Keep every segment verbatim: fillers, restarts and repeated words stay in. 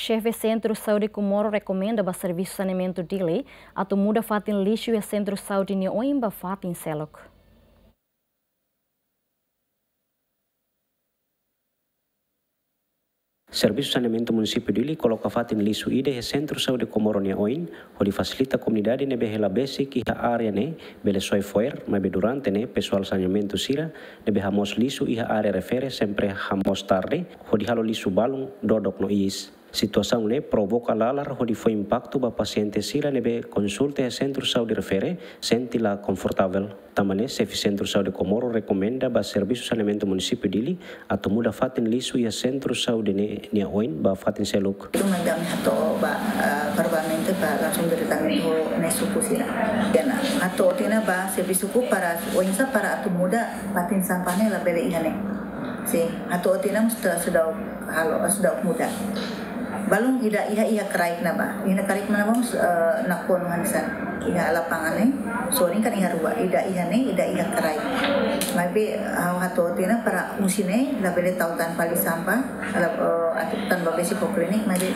Xefe Sentru Saúde Comoro rekomenda ba Servisu Saneamentu Dili atu muda fatin lixu iha Sentru Saúde nia oin ba fatin seluk. Servisu Saneamentu Munisípiu Dili koloka fatin lixu ida iha Sentru Saúde Comoro nia oin, hodi fasilita komunidade ne'ebé hela besik iha área ne'e bele soe fo'er, maibé durante ne'e pesoál saneamentu sira ne'ebé hamoos lixu iha área refere sempre hamoos tarde, hodi halo lixu balun, dodok no iis. Situasaun ne'e provoka lalar hodi fó impaktu ba pasiente sira ne'ebé konsulta iha Sentru Saúde refere, sente la konfortavel. Tanba ne'e, Xefe Sentru Saúde Comoro rekomenda ba Servisu Saneamentu Munisípiu Dili atu muda fatin lixu iha Sentru Saúde ne'e nia oin ba fatin seluk. Itu manda mi hato'o ba, eh, provavelmente ba langsung diretamente ho nia suku sira. Di'ak ona hato'o tiha ona ba servisuku para oinsá para atu muda fatin sampah ne'e labele iha ne'e. Sin, hato'o tiha ona mós sudah, sudah halo, sudah muda. Balun ida iha, iha kraik ne'ebá. Iha kraik ne'ebá mós, eh, nakonu hanesan. Iha lapangan ne'e, sorin kan iha rua, ida iha ne'e, ida iha kraik. Maibé ha'u hato'o tiha ona para husi ne'e labele tau tan fali sampah, la, eh, atu tan ba besik ho klinik, maibé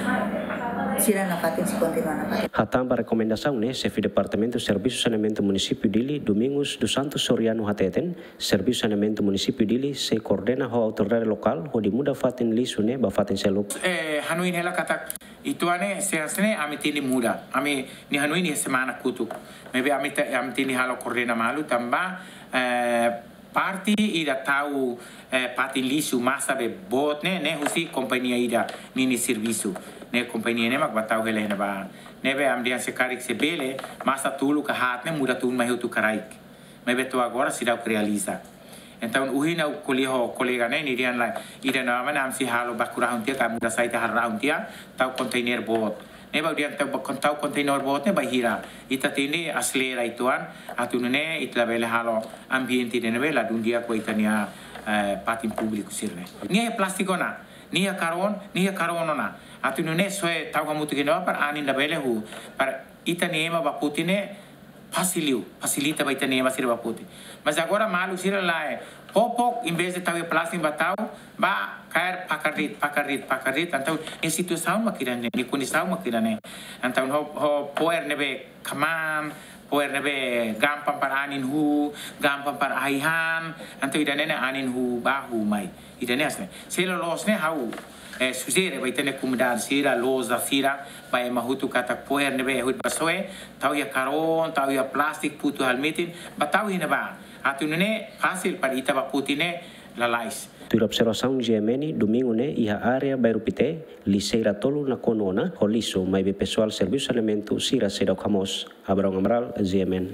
sira nafatin sei kontinua nafatin. Hatán ba rekomendasaun ne'e, Xefe Departamentu Servisu Saneamentu Munisípiu Dili, Domingos dos Santos Soriano hateten, Servisu Saneamentu Munisípiu Dili sei koordena ho autoridade lokál hodi muda fatin lixu ne'e ba fatin seluk. Eh, hanoin hela katak ituan ne'e, se hanesan ne'e ami tenke muda. Ami-nia hanoin iha semana kotuk. Maibé ami te-, ami tenke halo koordena malu tanba, eh, parte ida tau, eh, fatin lixu masa be boot ne'e, ne'e husi kompañia ida ninia servisu. Ne'e kompañia ne'e mak bá tau hela iha ne'ebá. Ne'ebé ami dehan se karik se bele, masa tolu ka haat ne'e muda tun mai hotu kraik. Maibé to'o agora seidauk realiza. Entaun, ohin ha'u ko'alia ho kolega ne'e, nia dehan lae, ida-ne'e mak ami sei halo baku rahun tiha, ka muda sai tiha halo rahun tiha, tau kontainer boot. Ne'ebé ha'u dehan tau ba-, kon-, tau kontainer boot ne'e ba hira. Ita tenke aselera ituan, atu nune'e ita labele halo ambiente ida ne'ebé ladún di'ak ba ita-nia, eh, fatin públiku sira-ne'e. Nia iha plástiku ona, nia iha karboun, nia iha karboun ona. Atu nune'e soe tau hamutuk iha ne'ebá para anin labele huu, para ita-nia ema bá foti ne'e fasil liu, fasilita ba ita-nia ema sira bá foti. Mas agora maluk sira lae, popok, em vez de tau iha plástiku bá tau, bá kaer pakar de'it, pakar de'it, pakar de'it, entaun nia situasaun mak ida-ne'e, nia kondisaun mak ida-ne'e. Entaun ho, ho fo'er ne'ebé kamaan, fo'er ne'ebé gampang para anin huu, gampang para ai-han, entaun ida-ne'e ne'e anin huu bá huu mai. Ida-ne'e hanesan ne'e. Se loloos ne'e ha'u, eh, sujere ba ita-nia komunidade sira, loja sira, ba ema hotu katak fo'er ne'ebé hodi bá soe, tau iha karboun, tau iha plástiku, futu halo metin, bá tau iha ne'ebá. Atu nune'e fasil para ita bá foti ne'e lalais. Tuir observasaun G M N, Domingu ne'e iha área Bairru Pité, lixeira tolu nakonu ona ho lixu, maibé pesoál servisu saneamentu sira seidauk hamoos. Abraão Amaral, G M N.